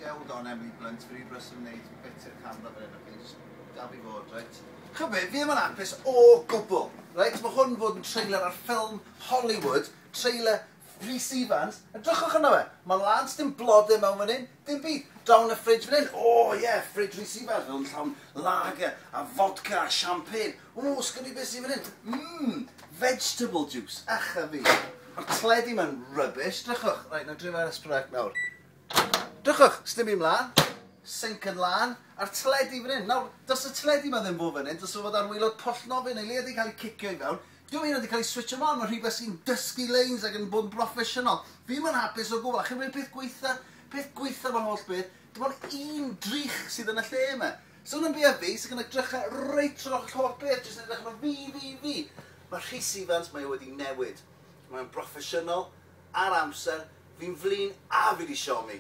Yeah, hold on, Emily Blunt, fi rhy brysur yn neud bit i'r camera fan hyn, okay? Just dal fi fod, reit? Ch'mo' be, fi ddim yn hapus o gwbl, reit? Mae hwn fod yn trailer ar ffilm Hollywood, trailer Rhys Ifans, edrychwch arno fe, mae'n lan, dim blodau mewn fan hyn, dim byd. Draw yn y fridge fan hyn, o oh, ie, yeah, fridge Rhys Ifans, fel yn llawn lager a vodka a champagne. O, sgwn i beth sydd fan hyn? Vegetable juice, ach a fi. Mae'r teledu ma'n rubbish, drychwch. Reit, na drio fe ar S4C nawr. Drychwch, sdim byd mlaen. Sink yn lan, a'r teledu fan hyn. Nawr, does y teledu ma ddim fod fan hyn, does o fod ar waelod pwll nofio neu leia wedi cael ei cicio i fewn. Dwi'n mynd wedi cael ei switch ymlaen, mae rhywbeth sy'n dysgu lines ac yn bod yn broffesiynol. Fi ddim yn hapus o gwbl, a chi'n gwybod peth gweitha fo'n holl beth, dim ond un drych sydd yn y lle yma. So yn byd fi, sy'n gyda drychau reit trwy'r holl beth, jyst yn edrych arno fi, fi, fi. Mae Rhys Ifans, mae o wedi newid. Mae'n broffesiynol, ar amser, fi'n flin a fi wedi siomi.